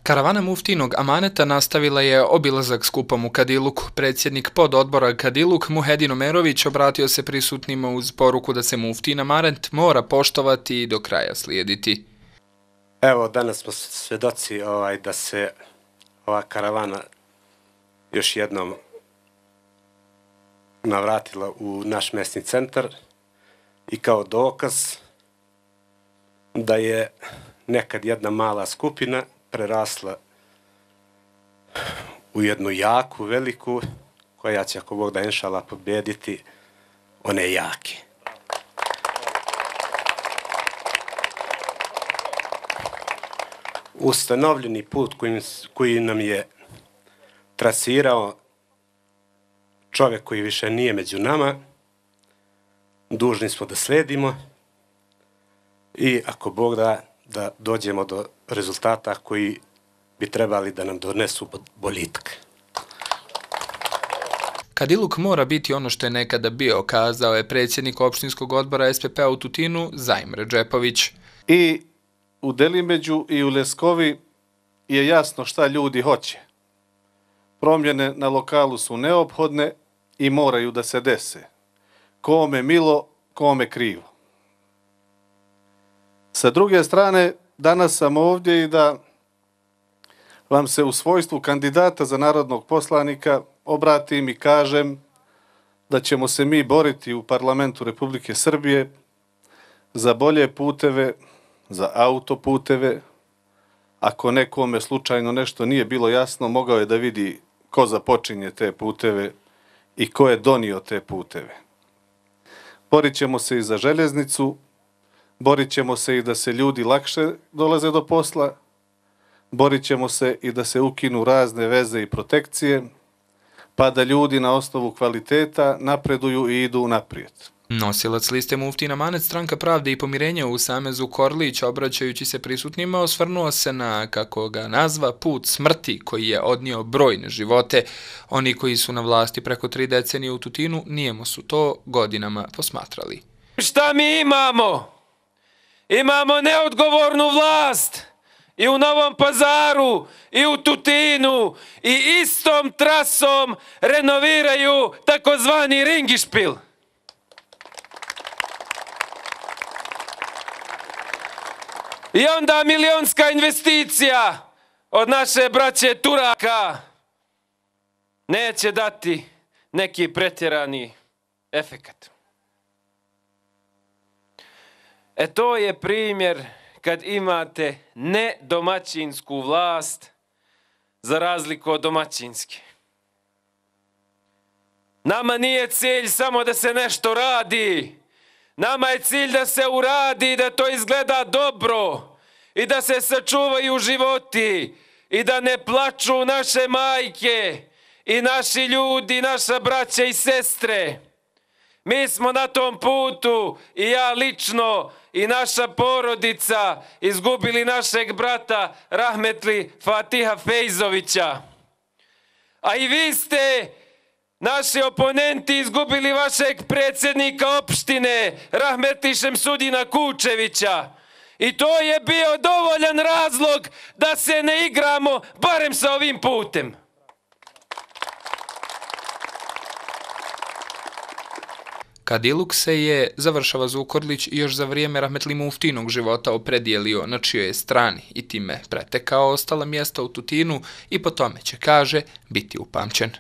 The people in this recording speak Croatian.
Karavana muftinog amaneta nastavila je obilazak skupom u Kadiluku. Predsjednik pododbora Kadiluk Muhedin Omerović obratio se prisutnima uz poruku da se muftin amanet mora poštovati i do kraja slijediti. Evo, danas smo svedoci da se ova karavana još jednom navratila u naš mesni centar i kao dokaz da je nekad jedna mala skupina prerasla u jednu jaku, veliku, koja će, ako Bog da inšala, pobjediti one jake. Ustanovljeni put koji nam je trasirao čovjek koji više nije među nama, dužni smo da sledimo i ako Bog da dođemo do rezultata koji bi trebali da nam donesu boljitak. Kadiluk mora biti ono što je nekada bio, kazao je predsjednik opštinskog odbora SPP-a u Tutinu Zajim Redžepović. I u Delimeđu i u Leskovi je jasno šta ljudi hoće. Promjene na lokalu su neophodne i moraju da se dese. Kome milo, kome krivo. Sa druge strane, danas sam ovdje i da vam se u svojstvu kandidata za narodnog poslanika obratim i kažem da ćemo se mi boriti u parlamentu Republike Srbije za bolje puteve, za autoputeve. Ako nekome slučajno nešto nije bilo jasno, mogao je da vidi ko započinje te puteve i ko je donio te puteve. Borit ćemo se i za željeznicu, borit ćemo se i da se ljudi lakše dolaze do posla, borit ćemo se i da se ukinu razne veze i protekcije, pa da ljudi na osnovu kvaliteta napreduju i idu naprijed. Nosilac liste muftin amanet Stranka pravde i pomirenja u Samezu Korlić, obraćajući se prisutnima, osvrnuo se na, kako ga nazva, put smrti koji je odnio brojne živote. Oni koji su na vlasti preko 3 decenije u Tutinu nijemo su to godinama posmatrali. Šta mi imamo? Imamo neodgovornu vlast i u Novom Pazaru i u Tutinu i istom trasom renoviraju takozvani ringišpil. I onda milionska investicija od naše braće Turaka neće dati neki pretjerani efekat. To je primjer kad imate nedomaćinsku vlast za razliku od domaćinske. Nama nije cilj samo da se nešto radi. Nama je cilj da se uradi, da to izgleda dobro i da se sačuvaju životi i da ne plaču naše majke i naši ljudi, naša braća i sestre. Mi smo na tom putu i ja lično i naša porodica izgubili našeg brata rahmetli Fatiha Fejzovića. A i vi ste, naši oponenti, izgubili vašeg predsjednika opštine rahmetli Šemsudina Kučevića. I to je bio dovoljan razlog da se ne igramo barem sa ovim putem. Kadiluk se je, završava Zukorlić, još za vrijeme rahmetli muftinog života opredijelio na čijoj je strani i time pretekao ostala mjesta u Tutinu i po tome će, kaže, biti upamćen.